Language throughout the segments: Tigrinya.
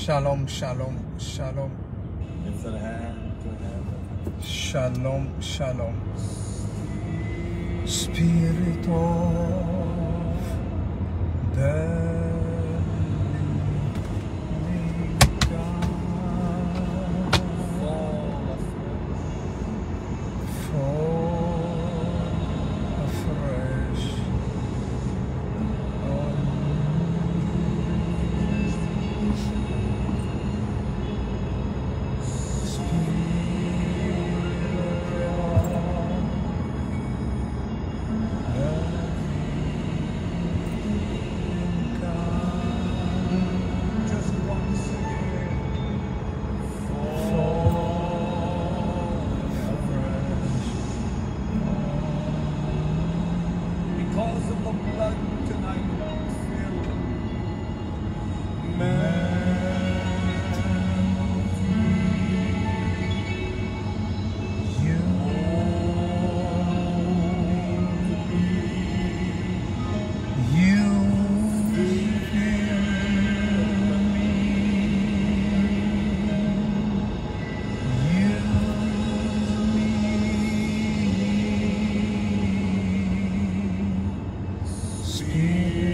Shalom, shalom, shalom. Lift your hand to heaven. Shalom, shalom. Spirit of the living God, Fall afresh. fall afresh on me. Spirit of the living God, just once again, fall afresh on me. Because of the blood tonight, fill me.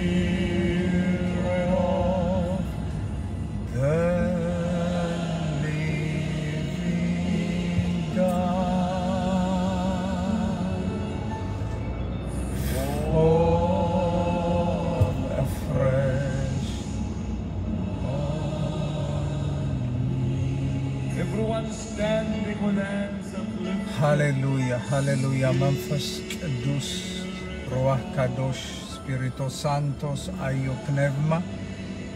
Spirit of the living God, fall afresh on me. Everyone standing with hands uplifted. ሃሌሉያ፣ ሃሌሉያ። መንፈስ ቅዱስ፣ ሩዋህ ካዶሽ፣ ስፒሪቶ ሳንቶስ፣ ኣዮ ፕነቭማ፣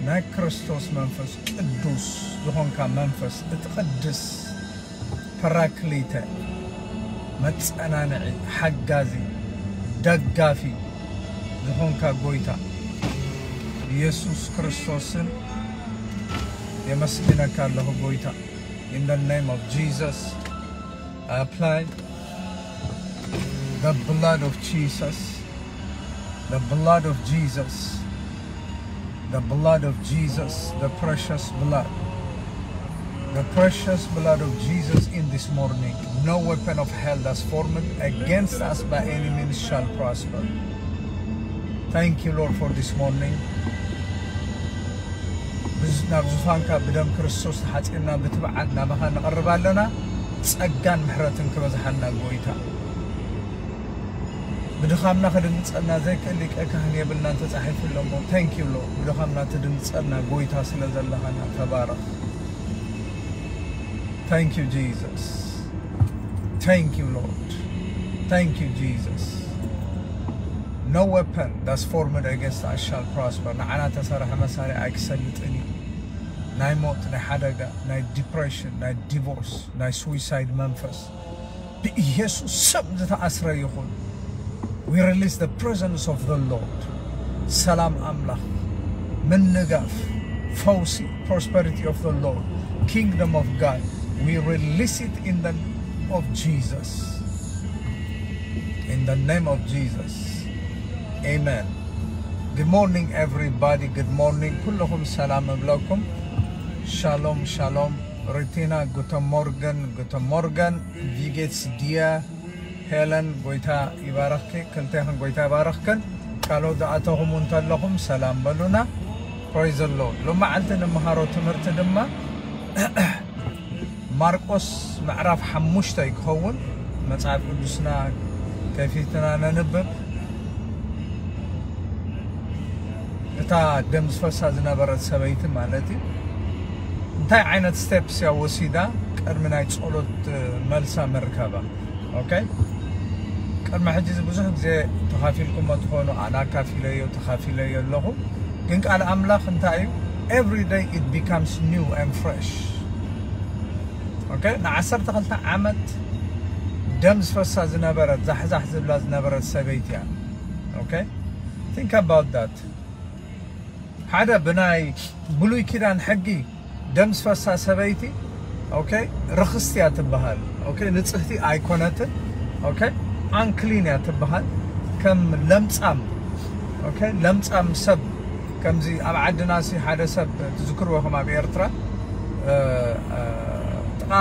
ናይ ክርስቶስ መንፈስ ቅዱስ ዝኾንካ መንፈስ እትቕድስ፣ ፐራክሊተ፣ መጸናንዒ፣ ሓጋዚ፣ ደጋፊ ዝኾንካ ጎይታ ኢየሱስ ክርስቶስን የመስግነካ ኣለኹ ጎይታ። In the name of Jesus, I apply the blood of Jesus, the blood of Jesus, the blood of Jesus, the precious blood, the precious blood of Jesus in this morning. No weapon of hell that's formed against us by any means shall prosper. Thank you, Lord, for this morning. ብዝ- ናብ ዙፋንካ ብደም ክርስቶስ ተሓጺብና ብትብዓት ናባኻ ንቐርብ ኣለና። ጸጋን ምሕረትን ክበዝሓልና ጎይታ። ብድኻምና ክድንጸና ዘይክእል ሊቀ ካህን የብልናን ተጻሒፉ ኣሎ እሞ፣ thank you Lord፣ ብድኻምና ትድንጸና ጎይታ ስለ ዘለኻና ተባረኽ። Thank you Jesus. Thank you Lord. Thank you Jesus. No weapon that's formed against us shall prosper. ንዓና ተሰርሐ መሳርያ ኣይክሰልጥን እዩ። ናይ ሞት፣ ናይ ሓደጋ፣ ናይ ዲፕሬሽን፣ ናይ ዲቮርስ፣ ናይ ስዊሳይድ መንፈስ ብኢየሱስ ስም ዝተኣስረ ይኹን። We release the presence of the Lord. ሰላም ኣምላኽ፣ ምንጋፍ፣ ፈውሲ፣ prosperity of the Lord, kingdom of God. We release it in the name of Jesus. In the name of Jesus. Amen. Good morning everybody. Good morning. ኩለኹም ሰላም እብለኩም። ሻሎም ሻሎም። ሪቲና፣ ጉተ ሞርገን፣ ጉተ ሞርገን፣ ቪጌትስ ዲያ፣ ሄለን፣ ጎይታ ይባረኽኪ። ክልቴኽን ጎይታ ይባረኽክን። ካልኦት ዝኣተኹም እንተለኹም ሰላም በሉና። Praise the Lord። ሎማዓልቲ ንምሃሮ ትምህርቲ ድማ ማርቆስ ምዕራፍ ሓሙሽተ ክኸውን፣ መጽሓፍ ቅዱስና ከፊትና ነንብብ። እታ ደም ዝፈሳ ዝነበረት ሰበይቲ ማለት እዩ። እንታይ ዓይነት ስቴፕስ እያ ወሲዳ ቅድሚ ናይ ጸሎት መልሳ ምርካባ? ኦኬ፣ ቅድሚ ሕጂ እዚ ብዙሕ ግዜ ተኻፊልኩሞ ትኾኑ፣ ኣነ ኣካፊለዮ፣ ተኻፊለዮ ኣለኹ። ግን ቃል ኣምላኽ እንታይ እዩ? Every day it becomes new and fresh. ኦኬ፣ ንዓሰርተ ክልተ ዓመት ደም ዝፈሳ ዝነበረት፣ ዛሕዛሕ ዝብላ ዝነበረት ሰበይቲ እያ። ኦኬ፣ think about that። ሓደ ብናይ ብሉይ ኪዳን ሕጊ ደም ዝፈሳ ሰበይቲ፣ ኦኬ፣ ርኽስቲ እያ ትበሃል። ኦኬ፣ ንጽህቲ ኣይኮነትን። ኦኬ፣ ኣንክሊን እያ ትበሃል። ከም ለምጻም፣ ኦኬ፣ ለምጻም ሰብ፣ ከምዚ ኣብ ዓድና ሲ ሓደ ሰብ ትዝክርዎ፣ ከም ኣብ ኤርትራ ጥቓ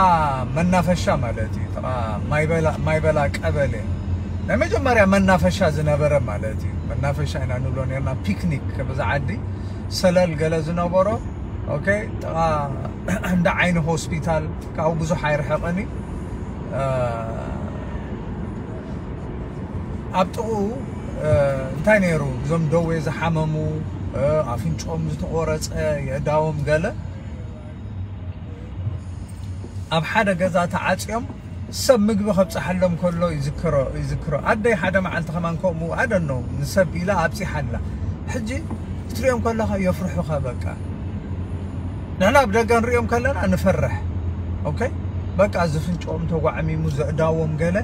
መናፈሻ ማለት እዩ። ጥቓ ማይበላ ቀበሌ ናይ መጀመርያ መናፈሻ ዝነበረ ማለት እዩ። መናፈሻ ኢና ንብሎ ነርና፣ ፒክኒክ ብዛ ዓዲ ሰለል ገለ ዝነበሮ። ኦኬ፣ ጥቓ እንዳ ዓይኒ ሆስፒታል ካብኡ ብዙሕ ኣይርሕቕን እዩ። ኣብ ጥቕኡ እንታይ ነይሩ? እዞም ደዌ ዝሓመሙ፣ ኣፍንጮም ዝተቆረፀ፣ የእዳዎም ገለ ኣብ ሓደ ገዛ ተዓፅዮም ሰብ ምግቢ ከብፀሓሎም ከሎ ይዝክሮ። ኣደይ ሓደ መዓልቲ ከማን ከምኡ ኣደኖ ንሰብ ኢላ ኣብፂሓ ኣላ። ሕጂ ክትሪኦም ከለኻ የፍርሑኻ። በቃ ንሕና ኣብ ደገ ንሪኦም ከለና ንፈርሕ። ኦኬ፣ በቃ ዝፍንጭኦም ተጓዕሚሙ ዘእዳዎም ገለ፣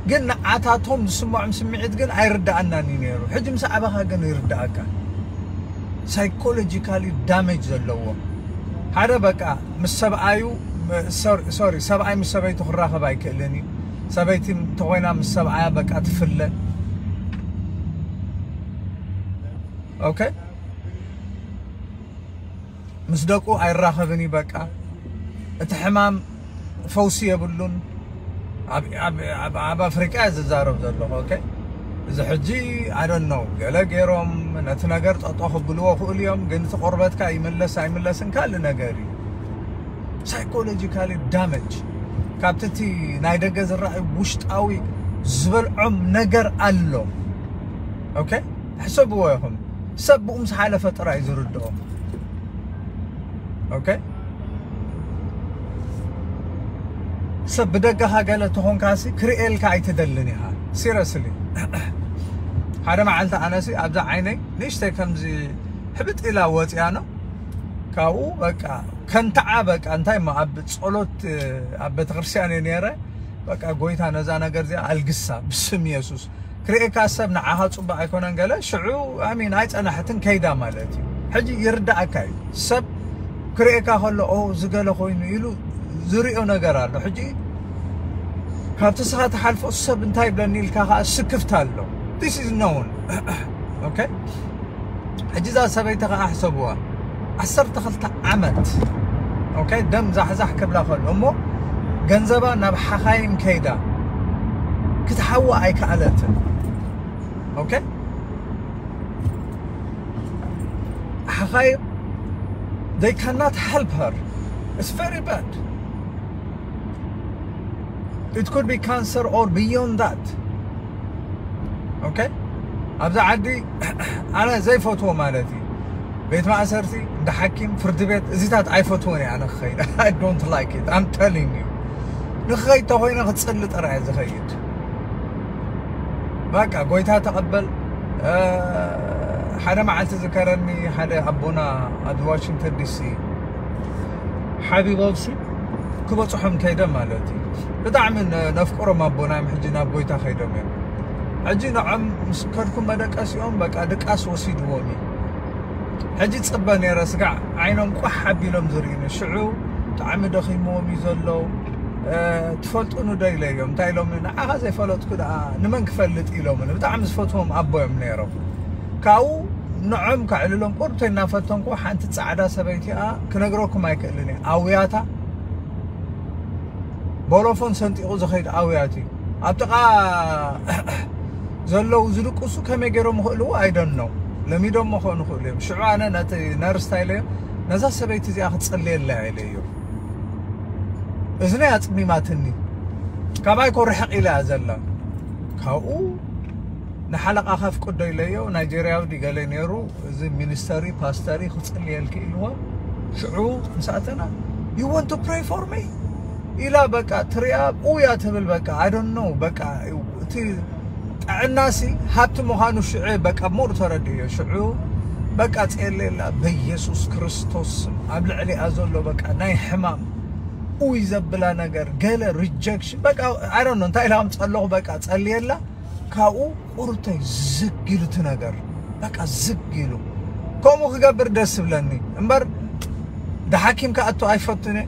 ግን ንዓታቶም ዝስምዖም ስምዒት ግን ኣይርድኣናን እዩ ነይሩ። ሕጂ ምስ ዓበኻ ግን ይርድኣካ። ሳይኮሎጂካሊ ዳሜጅ ዘለዎ ሓደ በቃ ምስ ሰብኣዩ፣ ሶሪ፣ ሰብኣይ ምስ ሰበይቱ ክራኸብ ኣይክእልን እዩ። ሰበይቲ እንተኮይና ምስ ሰብኣያ በቃ ትፍለ። ኦኬ፣ ምስ ደቁ ኣይራኸብን እዩ። በቃ እቲ ሕማም ፈውሲ የብሉን። ኣብ ኣፍሪቃ ዝዛረብ ዘለኹ። ኦኬ፣ እዚ ሕጂ ኣደነው ገለ ገይሮም ነቲ ነገር ጠጦ ክብልዎ ክእሉ እዮም፣ ግን እቲ ቆርበትካ ይምለስ ኣይምለስን ካልእ ነገር እዩ። ሳይኮሎጂካሊ ዳመጅ ካብቲ እቲ ናይ ደገ ዝረኣዩ ውሽጣዊ ዝበልዖም ነገር ኣሎ። ኦኬ፣ ሕሰብዎ ኢኹም። ሰብ ብኡ ምስ ሓለፈ ጥራይ ዝርድኦ። ኦኬ፣ ሰብ ብደገኻ ገለ ተኾንካሲ ክርእየልካ ኣይትደልን ኢኻ። ሲረስሊ ሓደ መዓልቲ ኣነሲ ኣብዛ ዓይነይ ንእሽተይ ከምዚ ሕብጥ ኢላ ወፂያ ነው ካብኡ በቃ ከንትዓ በቃ እንታይ ማ ኣብ ጸሎት ኣብ ቤተክርስትያን እየ ነይረ። በቃ ጎይታ ነዛ ነገር እዚኣ ኣልግሳ ብስም የሱስ። ክርእየካ ሰብ ንዓኻ ጽቡቅ ኣይኮነን ገለ ሽዑ ኣሚን ኣይጸናሕትን ከይዳ ማለት እዩ። ሕጂ ይርዳእካ እዩ ሰብ ክርእየካ ከሎ ኦ ዝገለ ኮይኑ ኢሉ ዝሪኦ ነገር ኣሎ። ሕጂ ካብቲ ስኻ ትሓልፎ ሰብ እንታይ ይብለኒ ኢልካ ከዓ ስክፍታ ኣሎ። This is known። ኦኬ፣ ሕጂ እዛ ሰበይቲ ከዓ ሕሰብዋ ዓሰርተ ክልተ ዓመት ኦኬ፣ ደም ዛሕዛሕ ክብላ ከሎ እሞ ገንዘባ ናብ ሓኻይም ከይዳ ክትሓዋ ኣይከኣለትን። ኦኬ፣ ሓኻይም they cannot help her. It's very bad. It could be cancer or beyond that. ኦኬ፣ ኣብዛ ዓዲ ኣነ ዘይፈትዎ ማለት እዩ። ቤት ማእሰርቲ፣ እንዳ ሓኪም፣ ፍርዲ ቤት እዚታት ኣይፈትዎን እየ ኣነ ክኸይድ። I don't like it. I'm telling you። ንክኸይድ ተኮይነ ክፅሊ ጥራይ ዝኸይድ። በቃ ጎይታ ተቐበል። ሓደ መዓልቲ ዝከረኒ ሓደ ኣቦና ኣብ ዋሽንግተን ዲሲ ሓቢቦምሲ ክበፅሖም ከይደ ማለት እዩ። ብጣዕሚ ነፍቅሮም ኣቦና እዮም። ሕጂ ናብ ጎይታ ከይዶም እዮም። ሕጂ ንዖም ምስ ከድኩም መደቀሲኦም በቃ ድቃስ ወሲድዎም እዩ። ሕጂ ፅበ ነይረ ስጋዕ ዓይኖም ቋሕ ኣቢሎም ዝርእዩኒ ሽዑ ብጣዕሚ ደኺምዎም እዩ ዘሎ። ትፈልጡኒ ዶ ኢለዮም እንታይ ኢሎም ንዓኻ ዘይፈለጥኩ ደኣ ንመን ክፈልጥ ኢሎምኒ። ብጣዕሚ ዝፈትዎም ኣቦ እዮም ነይሮም። ካብኡ ንዖም ከዕልሎም ቁርብተይ እናፈተንኩ ሓንቲ ፃዕዳ ሰበይቲ እያ ክነግረኩም ኣይክእልን እየ ኣውያታ ቦሎፎን ሰንጢቑ ዝኸይድ ኣውያት እዩ። ኣብ ጥቓ ዘለዉ ዝድቅሱ ከመይ ገይሮም ይኽእልዎ ኣይደኖ ለሚዶሞ ክኾኑ ይኽእሉ እዮም። ሽዑ ኣነ ነቲ ነርስ እንታይ ኢለዮ ነዛ ሰበይቲ እዚኣ ክትፅልየላ ኢለዮ። እዝነይ ኣፅሚማትኒ። ካባይ ኮ ርሕቕ ኢላ እያ ዘላ። ካብኡ ንሓለቓ ከፍቅዶ ኢለዮ ናይጀርያዊ ድገለ ነይሩ። እዚ ሚኒስተሪ ፓስተሪ ክፅልየልኪ ኢልዎ። ሽዑ ምስ ኣተና you want to pray for me ኢላ በቃ ትሪኣ ኡያ ትብል በቃ I don't know በቃ እቲ ጥዕናሲ ሃብቲ ምዃኑ ሽዑ በቃ ሞር ተረድዮ። ሽዑ በቃ ጸለየላ በኢየሱስ ክርስቶስ ስም ኣብ ልዕሊኣ ዘሎ በቃ ናይ ሕማም ኡይ ዘብላ ነገር ገለ rejection በቃ I don't know እንታይ ኢላ ከም ጸለኹ በቃ ጸልየላ ካብኡ ቁርተይ ዝግ ኢሉ እቲ ነገር በቃ ዝግ ኢሉ ከምኡ ክገብር ደስ ዝብለኒ እምበር ድሓኪም ክኣቱ ኣይፈቱን እየ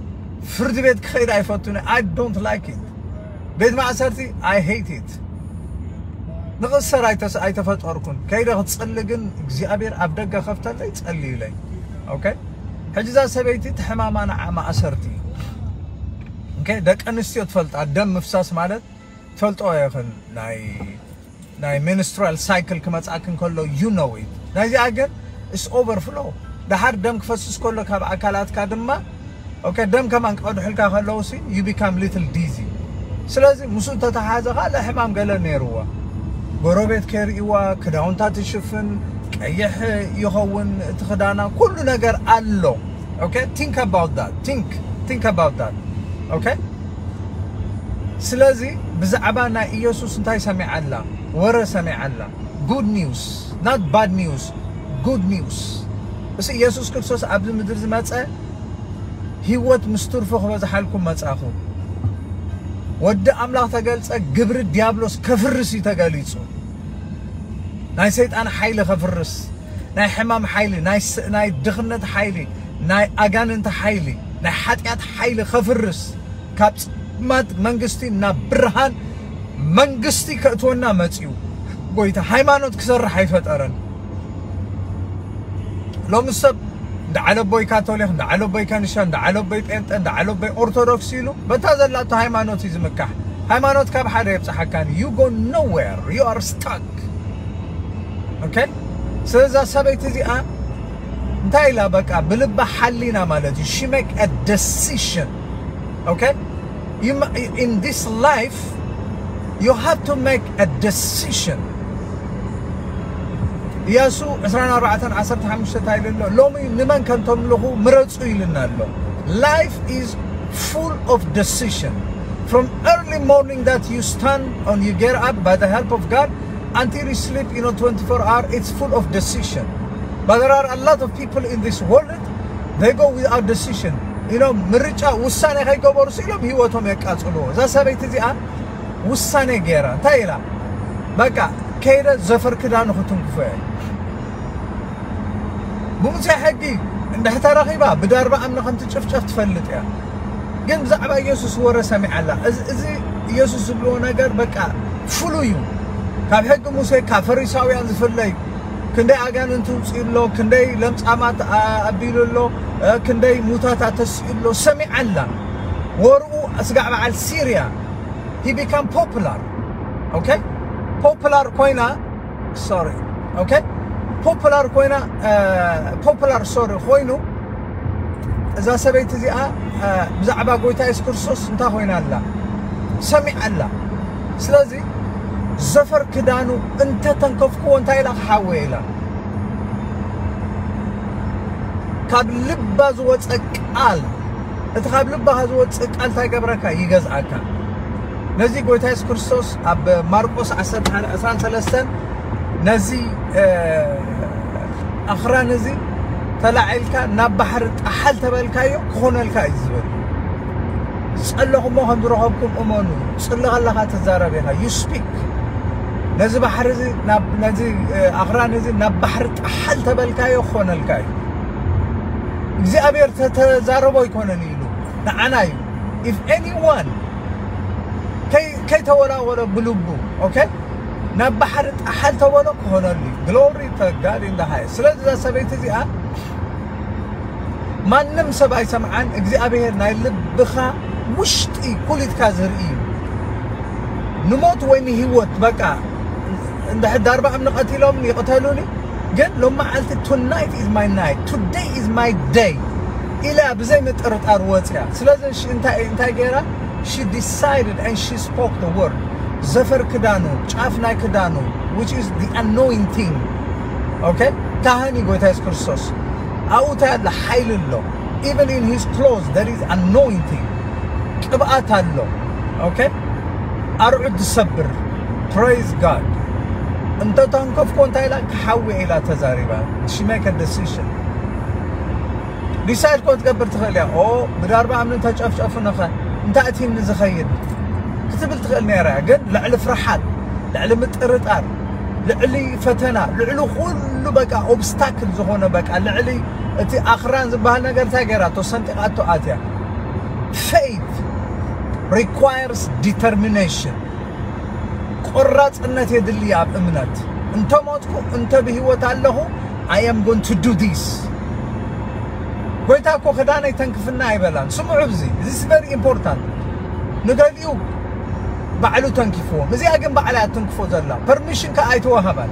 ፍርዲ ቤት ክኸይድ ኣይፈቱን እየ I don't like it ቤት ማእሰርቲ I hate it ንኽእሰር ኣይተፈጠርኩን ከይደ ክፅሊ ግን እግዚኣብሔር ኣብ ደገ ከፍተለይ ፀልዩለይ okay ሕጂ እዛ ሰበይቲ እቲ ሕማማ ንዓ ማእሰርቲ እዩ። ኦኬ፣ ደቂ ኣንስትዮ ትፈልጣ፣ ደም ምፍሳስ ማለት ትፈልጦ ይኽን ናይ ናይ menstrual cycle ክመጻክ እንከሎ you know it። ናይዚኣ ግን it's overflow። ደሓር ደም ክፈስስ ከሎ ካብ ኣካላትካ ድማ ኦኬ፣ ደም ከማን ክቐድሑልካ ከለውሲ you become little dizzy። ስለዚ ምስኡ እንተተሓዘ ካልእ ሕማም ገለ ነይርዋ። ጎረቤት ከይርእይዋ፣ ክዳውንታ ትሽፍን፣ ቀይሕ ይኸውን እቲ ክዳና፣ ኩሉ ነገር ኣሎ። ኦኬ፣ think about that። Think think about that። ኦኬ፣ ስለዚ ብዛዕባ ናይ ኢየሱስ እንታይ ሰሚዓ ኣላ? ወረ ሰሚዓ ኣላ። Good news, not bad news። Good news። እስ ኢየሱስ ክርስቶስ ኣብዚ ምድሪ ዝመጸ ህይወት ምስ ትርፎ ክበዝሓልኩም መጻኹ። ወዲ ኣምላኽ ተገልጸ፣ ግብሪ ዲያብሎስ ከፍርስ እዩ ተገሊጹ። ናይ ሰይጣን ሓይሊ ከፍርስ፣ ናይ ሕማም ሓይሊ፣ ናይ ስ- ናይ ድኽነት ሓይሊ፣ ናይ ኣጋንንቲ ሓይሊ፣ ናይ ሓጢኣት ሓይሊ ከፍርስ፣ ካብ ጽልማት መንግስቲ ናብ ብርሃን መንግስቲ ከእትወና መጺኡ። ጎይታ ሃይማኖት ክሰርሕ ኣይፈጠረን። ሎሚ ሰብ እንዳ ዓለቦይ ካቶሊክ፣ እንዳ ዓለቦይ ከንሻ፣ እንዳ ዓለቦይ ጴንጠ፣ እንዳ ዓለቦይ ኦርቶዶክስ ኢሉ በታ ዘላቶ ሃይማኖት እዩ ዝምካሕ። ሃይማኖት ካብ ሓደ የብጽሓካን። You go nowhere, you are stuck። ኦኬ፣ ስለዛ ሰበይቲ እዚኣ እንታይ ኢላ? በቃ ብልባ ሓሊና ማለት እዩ። She make a decision። ኦኬ፣ you ma- in this life you have to make a decision። ኢያሱ ዕስራን ኣርባዕተን ዓሰርተ ሓሙሽተ እንታይ ኢሉ ኣሎ? ሎሚ ንመን ከም ተምልኹ ምረጹ ኢልና ኣሎ። Life is full of decision. From early morning that you stand and you get up by the help of God until you sleep, you know, twenty-four hour, it's full of decision. But there are a lot of people in this world, they go without decision. You know, ምርጫ ውሳኔ ከይገበሩ ስኢሎም ህይወቶም የቃጽልዎ። እዛ ሰበይቲ እዚኣ ውሳኔ ገይራ እንታይ ኢላ? በቃ ከይደ ዘፈር ክዳኑ ክትንክፎ እየ። ብሙሴ ሕጊ እንድሕር ተረኺባ ብዳርባ እምኒ ከም ትጭፍጨፍ ትፈልጥ እያ። ግን ብዛዕባ ኢየሱስ ወረ ሰሚዓ ኣላ። እዚ እዚ ኢየሱስ ዝብልዎ ነገር በቃ ፍሉይ እዩ። ካብ ሕጊ ሙሴ ካብ ፈሪሳውያን ዝፍለይ፣ ክንደይ ኣጋንንቲ ውፅኡ ኣሎ፣ ክንደይ ለምጻማት ኣ- ኣቢሉ ኣሎ፣ እ፣ ክንደይ ሙታት ኣተስኡ ኣሎ ሰሚዓ ኣላ። ወርኡ ስጋዕ በዓል ሲርያ he become popular። ኦኬ፣ ፖፑላር ኮይና ሶሪ ኦኬ፣ ፖፑላር ኮይና ፖፑላር ሶሪ ኮይኑ እዛ ሰበይቲ እዚኣ ብዛዕባ ጎይታ የሱስ ክርስቶስ እንታይ ኮይና ኣላ ሰሚዓ ኣላ። ስለዚ ዘፈር ክዳኑ እንተተንከፍክዎ እንታይ ኢላ ክሓወየ ኢላ። ካብ ልባ ዝወፀ ቃል፣ እቲ ካብ ልባኻ ዝወፅእ ቃል እንታይ ገብረካ? ይገዝኣካ። ነዚ ጎይታ የሱስ ክርስቶስ ኣብ ማርቆስ ዓሰርተ ሓደ ዕስራን ሰለስተን ነዚ ኣኽራን እዚ ተላዒልካ ናብ ባሕሪ ጣሓል ተበልካዮ ክኾነልካ እዩ ዝብል። ዝጸለኹሞ ከም ዝረኸብኩም እመኑ። ጽሊ ከለኻ ትዛረብ ኢኻ። You speak። ነዚ ባሕሪ እዚ ናብ ነዚ ኣኽራን እዚ ናብ ባሕሪ ጣሓል ተበልካዮ ክኾነልካ እዩ። እግዚኣብሔር ተተዛረቦ ኣይኮነን ኢሉ ንዓና እዩ። If anyone ከይተወላወለ ብልቡ ኦኬ ናብ ባሕሪ ጣሓል ተበሎ ክኾነሉ። Glory to God in the highest። ስለዚ እዛ ሰበይቲ እዚኣ ማንም ሰብ ኣይሰምዓን። እግዚኣብሔር ናይ ልብኻ ውሽጢ ኩሊትካ ዝርኢ እዩ። ንሞት ወይ ንህይወት በቃ እንድሕር ዳርባ እምኒ ቀቲሎም ይቕተሉኒ ግን ሎም መዓልቲ tonight is my night, today is my day ኢላ ብዘይ ምጥርጣር ወፅያ። ስለዚ እንታይ እንታይ ገይራ? She decided and she spoke the word። ዘፈር ክዳኑ ጫፍ ናይ ክዳኑ which is the anointing okay ካህን እዩ ጎይታ የሱስ ክርስቶስ። ኣብኡ እንታይ ኣሎ? ሓይሊ ኣሎ። Even in his clothes there is anointing። ቅብኣት ኣሎ። Okay ኣርዑት ዝሰብር። Praise God። እንተ ተንከፍኮ እንታይ ኢላ? ክሓዊ ኢላ ተዛሪባ። She make a decision። ዲሳይድ ኮ ትገብር ትኽእል እያ። ኦ ብዳርባ እምኒ ተጨፍጨፉ ነኸ እንታይ እቲኒ ዝኸይድ ክትብል ትኽእል ነይራ እያ። ግን ልዕሊ ፍርሓት፣ ልዕሊ ምጥርጣር፣ ልዕሊ ፈተና፣ ልዕሊ ኩሉ በቃ ኦብስታክል ዝኾነ በቃ ልዕሊ እቲ ኣኽራን ዝበሃል ነገር እንታይ ገይራቶ? ሰንጢቓቶ ኣትያ። Faith requires determination። ቆራፅነት የድሊ ኣብ እምነት። እንተ ሞትኩ እንተ ብህይወት ኣለኹ I am going to do this። ጎይታ እኮ ክዳነይ ተንክፍና ኣይበላን። ስምዑ፣ እዚ እዚ very important። ንገሊኡ ባዕሉ ተንኪፍዎም፣ እዚኣ ግን ባዕላ ትንክፎ ዘላ። ፐርሚሽን ከ ኣይተዋሃባን።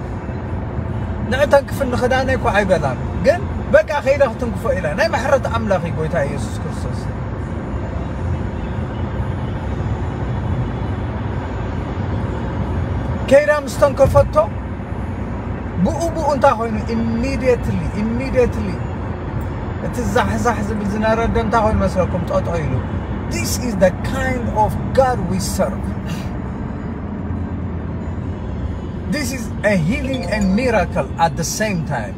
ንዕ ተንክፍኒ ክዳነይ እኮ ኣይበላን፣ ግን በቃ ከይዳ ክትንክፎ ኢላ። ናይ ምሕረት ኣምላኽ እዩ ጎይታ ኢየሱስ ክርስቶስ። ከይዳ ምስ ተንከፈቶ፣ ብኡ ብኡ እንታይ ኮይኑ? Immediately, immediately እቲ ዛሕዛሕ ዝብል ዝነበረ ደም እንታይ ኮይኑ መስለኩም? ጠጦ ኢሉ። This is the kind of God we serve. This is a healing and miracle at the same time.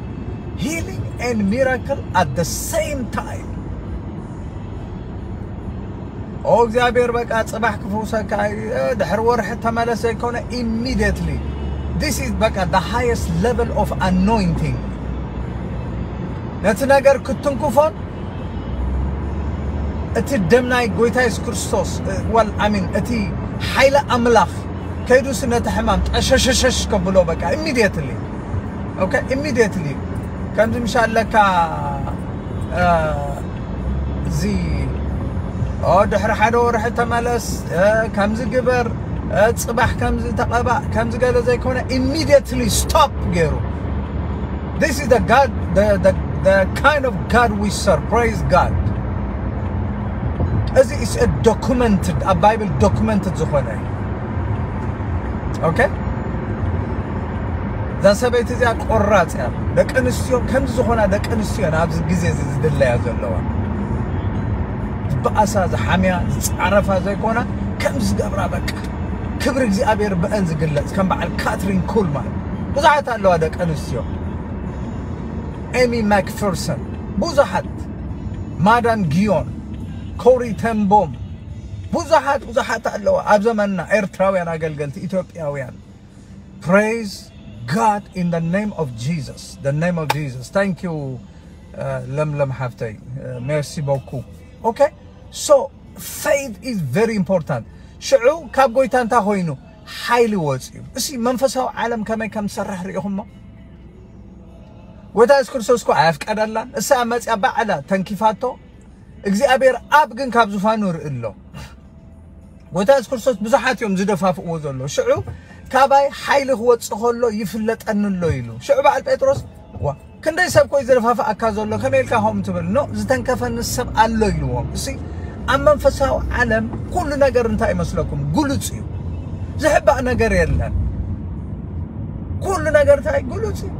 Healing and miracle at the same time. ኦ እግዚኣብሔር በቃ ጽባሕ ክፈውሰካ እዩ፣ ድሕሪ ወርሒ ተመለስ ዘይኮነ፣ immediately። This is በቃ the highest level of anointing። ነቲ ነገር ክትንክፎን እቲ ደም ናይ ጎይታ የሱስ ክርስቶስ፣ well, I mean፣ እቲ ሓይሊ ኣምላኽ ከይዱስ ነቲ ሕማም ጠሸሸሸሽ ከብሎ በቃ immediately። Okay, immediately። ከምዚ ምሻ ኣለካ፣ እዚ፣ ኦ፣ ድሕሪ ሓደ ወርሒ ተመለስ፣ ከምዚ ግበር፣ ጽባሕ ከምዚ ተቐባእ፣ ከምዚ ገለ ዘይኮነ፣ immediately stop ገይሩ። This is the God, the, the, the kind of God we serve. Praise God. እዚ is a documented፣ ኣብ ባይብል documented ዝኾነ እዩ። Okay? እዛ ሰበይቲ እዚኣ ቆራፅ እያ። ደቂ ኣንስትዮ ከምዚ ዝኾና ደቂ ኣንስትዮ እየን ኣብዚ ግዜ እዚ ዝድለያ ዘለዋ። ዝበኣሳ፣ ዝሓምያ፣ ዝፃረፋ ዘይኮና፣ ከም ዝገብራ በቃ ክብሪ እግዚኣብሔር ብአን ዝግለፅ፣ ከም በዓል ካትሪን ኩልማን ብዙሓት ኣለዋ ደቂ ኣንስትዮ። ኤሚ ማክፈርሰን፣ ብዙሓት፣ ማዳም ጊዮን፣ ኮሪ ተንቦም፣ ብዙሓት ብዙሓት ኣለዋ ኣብ ዘመንና፣ ኤርትራውያን ኣገልገልቲ፣ ኢትዮጵያውያን። Praise God in the name of Jesus. The name of Jesus. Thank you, uh, ለምለም ሓፍተይ። Uh, merci beaucoup. Okay? So, faith is very important. ሽዑ ካብ ጎይታ እንታይ ኮይኑ? ሓይሊ ወፅዩ። እሲ መንፈሳዊ ዓለም ከመይ ከም ዝሰርሕ ርኢኹሞ? ጎይታ የሱስ ክርስቶስ እኮ ኣየፍቀደላን። እሳ መፅያ ባዕላ ተንኪፋቶ። እግዚኣብሔር ኣብ ግን ካብ ዙፋኑ ርኢ ኣሎ። ጎይታ የሱስ ክርስቶስ ብዙሓት እዮም ዝደፋፍእዎ ዘሎ። ሽዑ ካባይ ሓይሊ ክወፅእ ከሎ ይፍለጠኒ ኣሎ ኢሉ። ሽዑ በዓል ጴጥሮስ፣ ዋ፣ ክንደይ ሰብ ኮይ ዝደፋፍኣካ ዘሎ፣ ከመይ ኢልካ ከምኡ ትብል? ኖ፣ ዝተንከፈኒ ሰብ ኣሎ ኢልዎም። እሲ ኣብ መንፈሳዊ ዓለም ኩሉ ነገር እንታይ ይመስለኩም? ግሉጽ እዩ። ዝሕባእ ነገር የለን። ኩሉ ነገር እንታይ? ግሉጽ እዩ።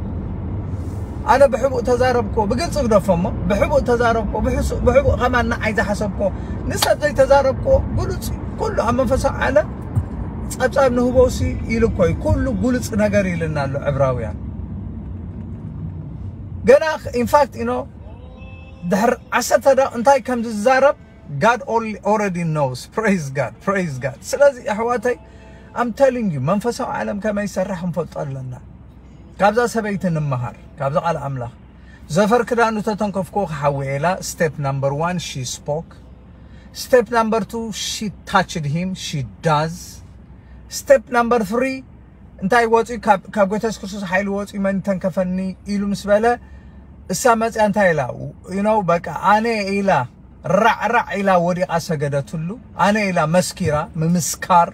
ኣነ ብሕቡእ ተዛረብኮ፣ ብግልጺ ግደፎ እሞ፣ ብሕቡእ ተዛረብኮ፣ ብሕሱ-፣ ብሕቡእ ከማን ንዓይ ዝሓሰብኮ፣ ንሰብ ዘይተዛረብኮ፣ ግሉጽ እዩ። ኩሉ ኣብ መንፈሳዊ ዓለም ጸብጻብ ንህቦሲ ኢሉ እኮ እዩ። ኩሉ ግሉጽ ነገር ኢልና ኣሎ ዕብራውያን። ገና ኢንፋክት ኢኖ ድሕር ዓሰርተ ደቂቕ እንታይ ከም ዝዛረብ God only already knows። Praise God, praise God። ስለዚ ኣሕዋተይ፣ I'm telling you፣ መንፈሳዊ ዓለም ከመይ ይሰርሕ ክንፈልጦ ኣለና። ካብዛ ሰበይቲ ንምሃር፣ ካብዛ ቃል ኣምላኽ። ዘፈር ክዳኑ ተተንከፍኮ ክሓዊ ኢላ። Step number one, she spoke. Step number two, she touched him, she does. Step number three፣ እንታይ ወፂ? ካብ፣ ካብ ጎይታ የሱስ ክርስቶስ ሓይሊ ወፂ፣ መን ተንከፈኒ ኢሉ ምስ በለ፣ እሳ መፅያ እንታይ ኢላ? You know፣ በቃ ኣነ ኢላ፣ ራዕራዕ ኢላ ወዲቓ ሰገደትሉ። ኣነ ኢላ መስኪራ፣ ምምስካር።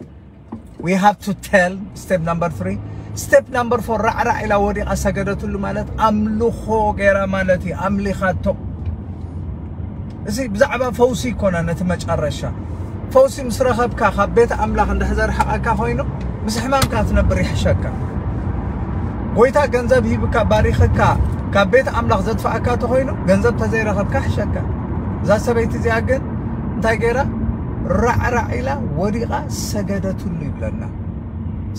We have to tell። Step number three። Step number four፣ ራዕራዕ ኢላ ወዲቓ ሰገደትሉ ማለት ኣምልኾ ገይራ ማለት እዩ። ኣምሊኻቶ። እዚ ብዛዕባ ፈውሲ ይኮነ፣ ነቲ መጨረሻ ፈውሲ ምስ ረኸብካ፣ ካብ ቤት ኣምላኽ እንድሕር ዘርሕቐካ ኮይኑ፣ ምስ ሕማምካ ትነብር ይሕሸካ። ጎይታ ገንዘብ ሂብካ፣ ባሪኽካ፣ ካብ ቤት ኣምላኽ ዘጥፍኣካ ተኾይኑ፣ ገንዘብ ተዘይረኸብካ ይሕሸካ። እዛ ሰበይቲ እዚኣ ግን እንታይ ገይራ? ራዕራዕ ኢላ ወዲቓ ሰገደትሉ ይብለና።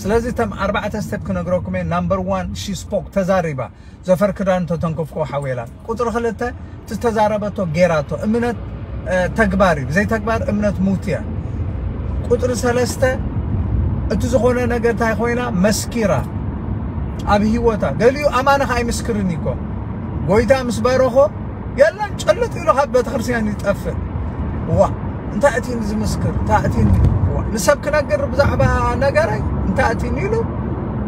ስለዚ እቶም ኣርባዕተ ስቴፕ ክነግረኩም እየ። ናምበር ዋን፣ ሺ ስፖክ፣ ተዛሪባ። ዘፈር ክዳን ተተንከፍኮ ሓዌላ። ቁጽሪ ክልተ፣ ዝተዛረበቶ ጌራቶ። እምነት፣ እ፣ ተግባር እዩ። ብዘይ ተግባር እምነት ሙት እያ። ቁጽሪ ሰለስተ፣ እቲ ዝኾነ ነገር እንታይ ኮይና መስኪራ ኣብ ህይወታ። ገሊኡ ኣማኒ ኸዓ ኣይምስክርን እዩ እኮ። ጎይታ ምስ ባረኾ የለን፣ ጭልጥ ኢሉ ካብ ቤተክርስትያን ይጠፍእ። ዋ፣ እንታይ እቲ ዝምስክር? እንታይ እቲ፣ ዋ፣ ንሰብ ክነግር ብዛዕባ ነገረይ እንታይ እቲ ኢሉ፣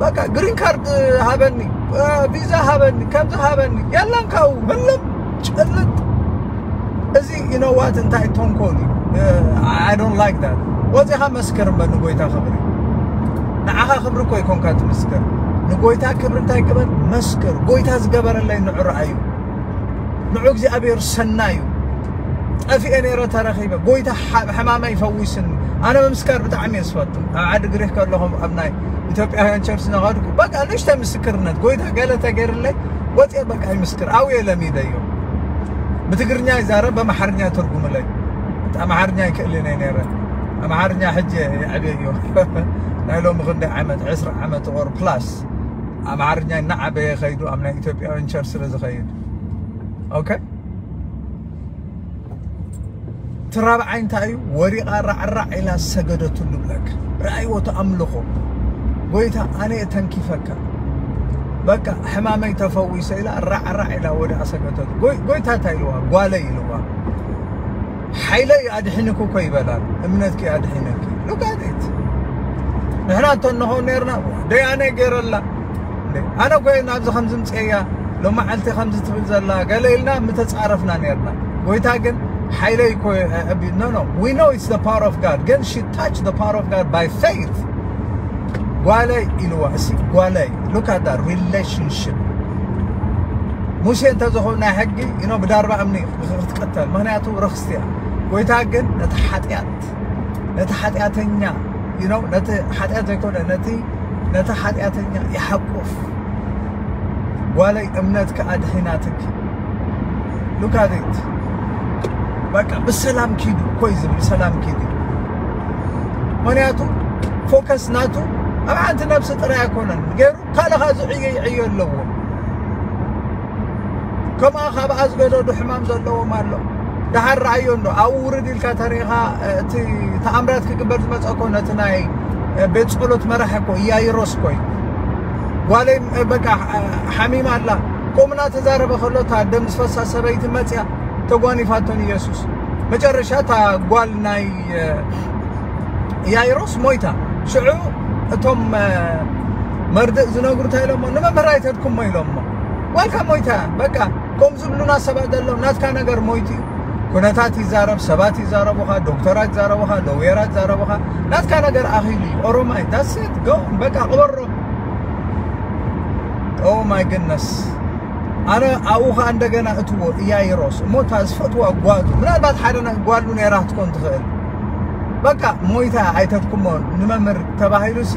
በቃ ግሪን ካርድ ሃበኒ፣ እ፣ ቪዛ ሃበኒ፣ ከምዚ ሃበኒ፣ የለን ካብኡ፣ ህልም፣ ጭልጥ። እዚ you know what እንታይ ተንኮል እዩ? I don't like that። ወፂኻ መስክር እምበር ንጎይታ ክብሪ። ንዓኻ ክብሪ እኮ ይኮንካ ትምስክር። ንጎይታ ክብሪ እንታይ ግበር? መስክር። ጎይታ ዝገበረለይ ንዑ ረኣዩ። ንዑ እግዚኣብሔር ሰናዩ። ጠፊኤ ነይረ ተረኺበ። ጎይታ ሓ- ሕማመይ ፈዊስኒ። ኣነ ምምስካር ብጣዕሚ እየ ዝፈቱ። ኣብ ዓዲ ግሪክ ከለኹም ኣብ ናይ ኢትዮጵያውያን ቸርች እናኸድኩ በቃ ንእሽተይ ምስክርነት ጎይታ ገለ ተገይርለይ ወፂአ በቃ ይምስክር። ኣብየ ለሚደዮ። ብትግርኛ ይዛረብ በኣምሓርኛ ተርጉምለይ። ኣምሓርኛ ይክእልን እየ ነይረ። ኣምሓርኛ ሕጂ የዕብየዮ። ናይ ሎሚ ክንደይ ዓመት ዕስራ ዓመት or plus ኣምሓርኛ እናዓበየ ከይዱ ኣብ ናይ ኢትዮጵያውያን ቸርች ስለ ዝኸይድ okay። እቲ ራብዓይ እንታይ እዩ? ወሪቓ ራዕራዕ ኢላ ሰገደትሉ ብለክ። ረኣይዎ እቲ ኣምልኾ። ጎይታ ኣነ እየ ተንኪፈካ። በቃ ሕማመይ ተፈዊሰ ኢላ ራዕራዕ ኢላ ወዲቓ ሰገደትሉ። ጎይ- ጎይታ እንታይ ኢልዋ? ጓለይ ኢልዋ። ሓይለይ ኣድሒንኩ እኮ ይበላል። እምነትኪ ኣድሒነኪ። Look at it። ንሕና እቶ እንኾን ነርና ደያነ ገይረላ። ኣነ እኮ ናብዚ ከምዚ ምፅእያ ሎማዓልቲ ከምዚ ትብል ዘላ ገለ ኢልና ምተፃረፍና ነርና። ጎይታ ግን ሓይለይ እኮ no no we know it's the power of God ግን she touch the power of God by faith። ጓለይ ኢልዋ እሲ ጓለይ። Look at that relationship። ሙሴ እንተዝኸውን ናይ ሕጊ you know ብዳርባ እምኒ ክትቀተል ምክንያቱ ርክስቲ እያ። ጎይታ ግን ነቲ ሓጢኣት ነቲ ሓጢኣተኛ you know ነቲ ሓጢኣት ዘይኮነ ነቲ ነቲ ሓጢኣተኛ ይሓቁፍ። ጓለይ እምነትኪ ኣድሒናትኪ። Look at it። በቃ ብሰላም ኪዱ እኮ እዩ ዝብል ሰላም ኪዱ። ምክንያቱ ፎከስ ናቱ ኣብ ሓንቲ ነብሲ ጥራይ ኣይኮነን ገይሩ ካልእ ከዓ ዝዕዮ ይዕዮ ኣለዎ። ከምኣ ካብኣ ዝገደዱ ሕማም ዘለዎም ኣሎ። ደሓር ረኣዮ እንዶ ኣብኡ ውርድ ኢልካ ተሪኢኻ እቲ ተኣምራት ክግበር ዝመፀ እኮ ነቲ ናይ ቤት ፀሎት መራሒ እኮ ኢያይሮስ እኮ እዩ። ጓለይ በቃ ሓሚማ ኣላ። ከምኡ እናተዛረበ ከሎ እታ ደም ዝፈሳ ሰበይቲ መፅያ ተጓኒፋቶ ንኢየሱስ። መጨረሻ እታ ጓል ናይ ኢያይሮስ ሞይታ። ሽዑ እቶም መርድእ ዝነግሩ እንታይ ኢሎሞ? ንመምህር ኣይተድኩሞ ኢሎሞ። ጓልካ ሞይታ በቃ። ከም ዝብሉና ሰባት ዘለዉ ናትካ ነገር ሞይቱ እዩ። ኩነታት ይዛረብ፣ ሰባት ይዛረቡኻ፣ ዶክተራት ይዛረቡኻ፣ ሎየራት ይዛረቡኻ። ናትካ ነገር ኣኺሉ እዩ። ኦሮማይ that's it go በቃ ቅበሮ። Oh my goodness። ኣነ ኣብኡ ኸዓ እንደገና እትዎ ኢያይሮስ እሞ እታ ዝፈትዋ ጓሉ ምናልባት ሓደ ጓሉ ነይራ ክትኮን ትኽእል። በቃ ሞይታ ኣይተድኩሞ ንመምህር ተባሂሉ ሲ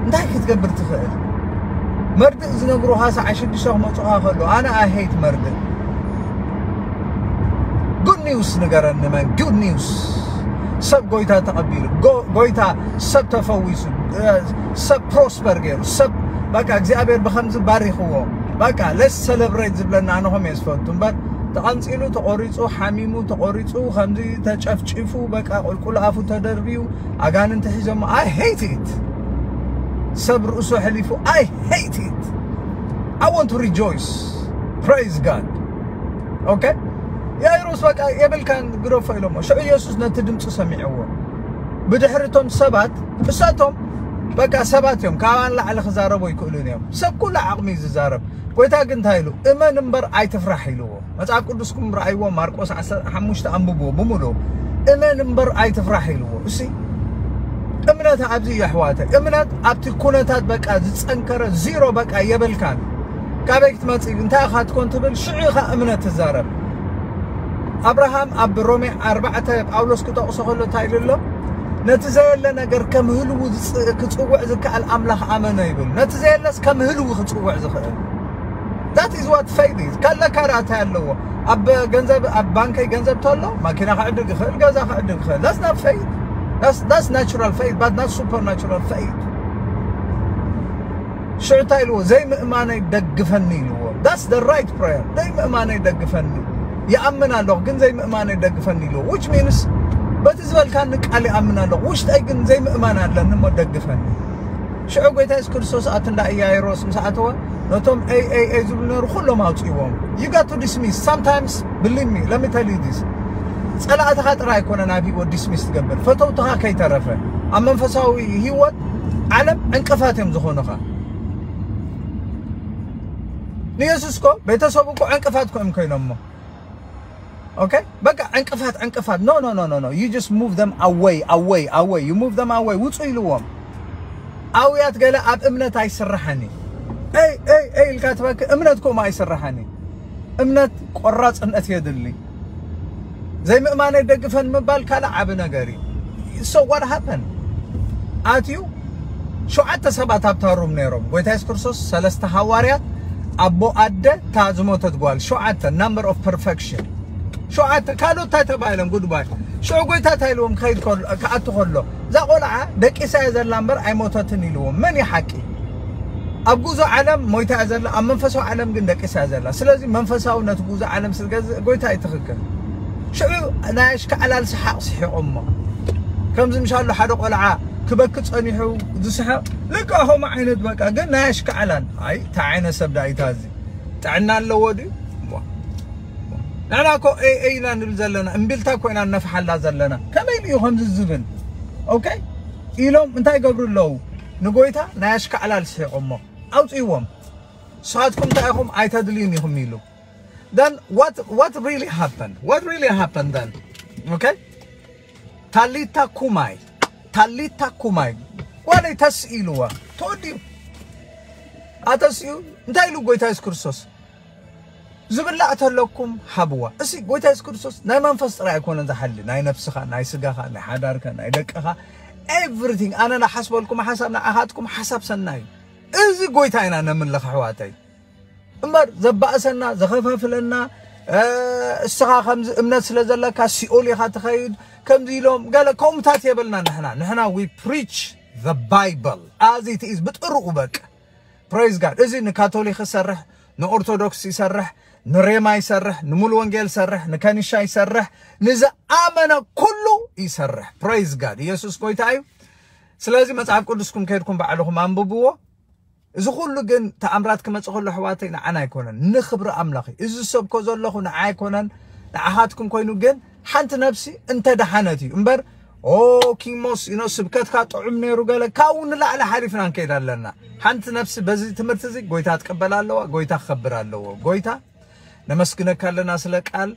እንታይ ክትገብር ትኽእል? መርድእ ዝነግሩኻ ሰዓ ሽዱሽተ ክመፁኻ ከሎ ኣነ I hate መርድእ። Good news ንገረኒ መን good news። ሰብ ጎይታ ተቐቢሉ ጎይታ ሰብ ተፈዊሱ ሰብ prosper ገይሩ ሰብ በቃ እግዚኣብሔር ብኸምዚ ባሪኽዎ። በቃ let's celebrate ዝብለና ኣነ ኸም እየ ዝፈቱ እምበር ተቐንፂሉ ተቖሪፁ ሓሚሙ ተቖሪፁ ከምዚ ተጨፍጪፉ በቃ ቁልቁል ኣፉ ተደርብዩ ኣጋንንቲ ሒዞሞ I hate it። ሰብ ርእሱ ኣሕሊፉ I hate it። I want to rejoice. Praise God. Okay። ያይሮስ በቃ የብልካን ግደፎ ኢሎሞ። ሽዑ ኢየሱስ ነቲ ድምፂ ሰሚዕዎ። ብድሕሪ እቶም ሰባት እሳቶም በቃ ሰባት እዮም፣ ካብኣ ንላዕሊ ክዛረቡ ኣይክእሉን እዮም። ሰብ ኩሉ ዓቕሚ እዩ ዝዛረብ። ጎይታ ግን እንታይ ኢሉ? እመን እምበር ኣይትፍራሕ ኢልዎ። መጽሓፍ ቅዱስኩም ረኣይዎ፣ ማርቆስ ዓሰርተ ሓሙሽተ ኣንብብዎ ብምሉኡ። እመን እምበር ኣይትፍራሕ ኢልዎ። እሲ እምነት ኣብዚ እዩ ኣሕዋተ። እምነት ኣብቲ ኩነታት በቃ ዝጸንከረ ዚሮ በቃ የብልካን። ካበይ ክትመጽእ እንታይ ኢኻ ትኮን ትብል ሽዑ ኢኻ እምነት ትዛረብ። ኣብርሃም ኣብ ሮሜ ኣርባዕተ ጳውሎስ ክጠቕሶ ከሎ እንታይ ኢሉ ኣሎ? ነቲ ዘየለ ነገር ከም ህልዉ ዝጽ- ክጽውዕ ዝከኣል ኣምላኽ ኣመኖ ይብል። ነቲ ዘየለስ ከም ህልዉ ክጽውዕ ዝኽእል that is what faith is። ካለካ ራእታይ ኣለዎ። ኣብ ገንዘብ ኣብ ባንከይ ገንዘብ ተሎ ማኪና ክዕድግ ይኽእል፣ ገዛ ክዕድግ ይኽእል። That's not faith. That's, that's natural faith but not supernatural faith። ሽዑ እንታይ ኢልዎ? ዘይምእማነይ ደግፈኒ ኢልዎ። That's the right prayer። ዘይምእማነይ ደግፈኒ። ይኣምን ኣለኹ ግን ዘይምእማነይ ደግፈኒ ኢልዎ። Which means በቲ ዝበልካኒ ቃል ይኣምን ኣለኹ ውሽጠይ ግን ዘይምእማን ኣለኒ እሞ ደግፈኒ። ሽዑ ጎይታ የሱስ ክርስቶስ ኣብቲ እንዳ ኢያይሮስ ምስ ኣተወ ነቶም ኤይ ኤይ ኤይ ዝብሉ ነሩ ኩሎም ኣውፅእዎም። You got to dismiss sometimes believe me let me tell you this። ጸላእትኻ ጥራይ ኣይኮነ ናብ ህይወት dismiss ትገብር ፈተውትኻ ከይተረፈ ኣብ መንፈሳዊ ህይወት ዓለም ዕንቅፋት እዮም ዝኾኑኻ። ንየሱስ ኮ ቤተሰቡ እኮ ዕንቅፋት ኮ እዮም ኮይኖሞ። okay? በቃ ዕንቅፋት ዕንቅፋት። No, no, no, no, no. You just move them away, away, away. You move them away. ውጹ ኢልዎም። ኣውያት ገለ ኣብ እምነት ኣይስራሕን እዩ። ኤይ ኤይ ኤይ ኢልካ ትበኪ። እምነት ከምኡ ኣይስራሕን እዩ። እምነት ቆራጽነት የድሊ። ዘይምእማነይ ደግፈን ምባል ካልእ ዓቢ ነገር እዩ። So what happened? ኣትዩ ሸውዓተ ሰባት ኣብታ ሩም ነይሮም። ጎይታ የሱስ ክርስቶስ ሰለስተ ሃዋርያት፣ ኣቦ፣ ኣደ፣ እታ ዝሞተት ጓል፣ ሸውዓተ፣ number of perfection። ሸውዓተ ካልኦት እንታይ ተባሂሎም? ጉድባይ። ሽዑ ጎይታ እንታይ ኢልዎም? ክኸይድ ከሎ፣ ክኣቱ ከሎ፣ እዛ ቆልዓ ደቂሳ እያ ዘላ እምበር ኣይሞተትን ኢልዎም። መን እዩ ሓቂ? ኣብ ጉዞ ዓለም ሞይታ እያ ዘላ፣ ኣብ መንፈሳዊ ዓለም ግን ደቂሳ እያ ዘላ። ስለዚ መንፈሳዊ ነቲ ጉዞ ዓለም ስለ ዝገዝእ ጎይታ እዩ ትኽክል። ሽዑ ናይ ኣሽካዕላል ሰሓቕ ስሒቖሞ። ከምዚ ምሻሉ ሓደ ቆልዓ ክበኪ ጸኒሑ ዝስሕቕ፣ ልክዕ ከምኡ ዓይነት በቃ፣ ግን ናይ ኣሽካዕላል። ኣይ፣ እንታይ ዓይነት ሰብ ዳኣ እዩ እዚ? ጥዕና ኣለዎ ድዩ? ዋ። ንሕና እኮ ኤይ ኤይ ኢና ንብል ዘለና፣ እምቢልታ እኮ ኢና ነፍሓላ ዘለና። ከመይ ኢሉ እዩ ከምዚ ዝብል? ኦኬ? ኢሎም እንታይ ይገብሩ ኣለዉ? ንጎይታ ናይ ኣሽካዕላል ስሒቖሞ። ኣውጽእዎም። ንስኻትኩም እንታይ ኢኹም? ኣይተድልዩን ኢኹም ኢሉ። Then what, what really happened? What really happened then? Okay? ታሊታ ኩማይ፣ ታሊታ ኩማይ፣ ጓለይ ተስኢ ኢልዋ። ተወዲኡ። ኣተስኡ እንታይ ኢሉ ጎይታ የሱስ ክርስቶስ? ዝብላዕ ተለኩም ሃብዋ። እሲ ጎይታ የሱስ ክርስቶስ ናይ መንፈስ ጥራይ ኣይኮነን ዝሓሊ፣ ናይ ነፍስኻ፣ ናይ ስጋኻ፣ ናይ ሓዳርካ፣ ናይ ደቅኻ፣ everything። ኣነ ናሓስበልኩም ሓሳብ፣ ንዓኻትኩም ሓሳብ ሰናይ እዩ። እዚ ጎይታ ኢና ነምልኽ ኣሕዋተይ። እምበር ዘባእሰና፣ ዘኸፋፍለና፣ እ፣ እስኻ ከምዚ እምነት ስለ ዘለካ ሲኦል ኢኻ ትኸይድ፣ ከምዚ ኢሎም ገለ ከምኡታት የብልና ንሕና። ንሕና we preach the Bible as it is፣ ብጥርኡ በቃ። Praise God። እዚ ንካቶሊክ ይሰርሕ፣ ንኦርቶዶክስ ይሰርሕ፣ ንሬማ ይሰርሕ፣ ንሙሉ ወንጌል ይሰርሕ፣ ንከኒሻ ይሰርሕ፣ ንዝኣመነ ኩሉ ይሰርሕ። Praise God። ኢየሱስ ጎይታ እዩ። ስለዚ መጽሓፍ ቅዱስኩም ከይድኩም ባዕልኹም ኣንብብዎ። እዚ ኩሉ ግን ተኣምራት ክመጽእ ከሎ ኣሕዋተይ ንዓና ኣይኮነን፣ ንኽብሪ ኣምላኽ እዩ። እዚ ዝሰብኮ ዘለኹ ንዓ ኣይኮነን፣ ንዓኻትኩም ኮይኑ ግን ሓንቲ ነፍሲ እንተ ደሓነት እዩ እምበር። ኦ ኪሞስ፣ you know፣ ስብከትካ ጥዑም ነይሩ ገለ፣ ካብኡ ንላዕሊ ሓሊፍና ንከይድ ኣለና። ሓንቲ ነፍሲ በዚ ትምህርቲ እዚ ጎይታ ትቀበል ኣለዋ፣ ጎይታ ክኸብር ኣለዎ። ጎይታ ነመስግነካ ኣለና ስለ ቃል።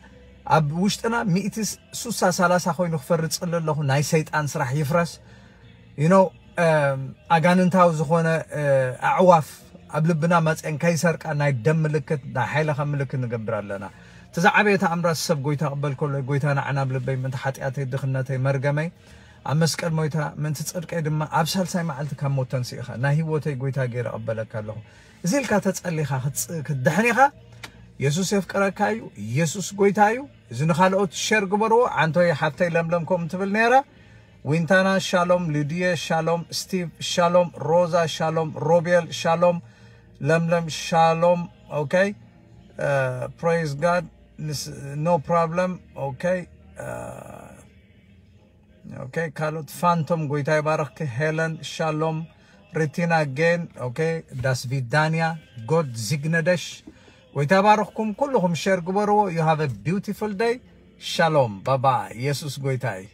ኣብ ውሽጥና ሚእቲ ሱሳ ሰላሳ ኮይኑ ክፈርድ ጽሊ ኣለኹ። ናይ ሰይጣን ስራሕ ይፍረስ። You know፣ ኣጋንንታዊ ዝኾነ ኣዕዋፍ ኣብ ልብና መፅአን ከይሰርቃ ናይ ደም ምልክት፣ ናይ ሓይልኻ ምልክት ንገብር ኣለና። እቲ ዝዓበየ ተኣምራት ሰብ ጎይታ ቅበል ከሎ፣ ጎይታ ንዓና ኣብ ልበይ ምእንቲ ሓጢኣተይ፣ ድኽነተይ፣ መርገመይ ኣብ መስቀል ሞይታ ምእንቲ ጽድቀይ ድማ ኣብ ሳልሳይ መዓልቲ ካብ ሞት ተንሲእኻ ናይ ህይወተይ ጎይታ ገይረ እቕበለካ ኣለኹ። እዚ ኢልካ ተጸሊኻ ክትጽ-፣ ክትድሕን ኢኻ። የሱስ የፍቅረካ እዩ። የሱስ ጎይታ እዩ። እዚ ንኻልኦት ሸር ግበርዎ። ዓንቶይ ሓፍተይ ለምለም ከምኡ ትብል ነይራ። ዊንታና ሻሎም፣ ሊድየ ሻሎም፣ ስቲቭ ሻሎም፣ ሮዛ ሻሎም፣ ሮቤል ሻሎም፣ ለምለም ሻሎም። ኦኬ፣ ፕሬዝ ጋድ። ኖ ፕሮብለም። ኦኬ፣ ኦኬ፣ ካልኦት ፋንቶም ጎይታ ይባረኽኪ። ሄለን ሻሎም፣ ሪቲና ጌን። ኦኬ፣ ዳስቪዳንያ፣ ጎድ ዚግነደሽ። ጎይታ ይባረኽኩም ኩልኹም፣ ሸር ግበርዎ። You have a beautiful day። ሻሎም ባባ። ኢየሱስ ጎይታ እዩ።